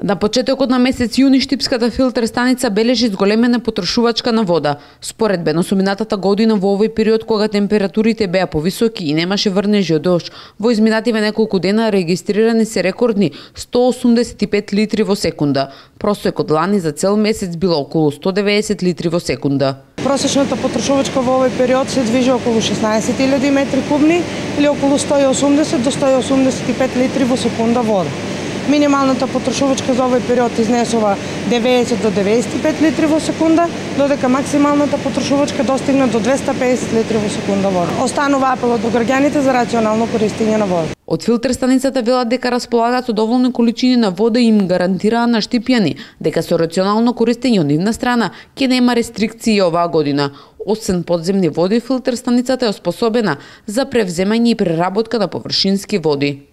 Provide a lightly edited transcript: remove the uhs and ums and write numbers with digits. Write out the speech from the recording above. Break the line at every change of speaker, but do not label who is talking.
На почетокот на месец јуни Штипската филтер станица бележи зголемена потрошувачка на вода. Споредбено со минатата година во овој период кога температурите беа повисоки и немаше врнежи од дожд, во изминативе неколку дена регистрирани се рекордни 185 литри во секунда. Просекот лани за цел месец било околу 190 литри во секунда.
Просечната потрошувачка во овој период се движи околу 16.000 метри кубни или околу 180 до 185 литри во секунда вода. Минималната потрошувачка за овој период изнесува 90 до 95 литри во секунда, додека максималната потрошувачка достигна до 250 литри во секунда вода. Останува апелот до граѓаните за рационално користење на вода.
Од филтер станицата велат дека располагаат со доволни количини на вода и им гарантираа на штипјани дека со рационално користење од нивна страна ќе нема рестрикции оваа година. Освен подземни води, филтер станицата е оспособена за превземање и преработка на површински води.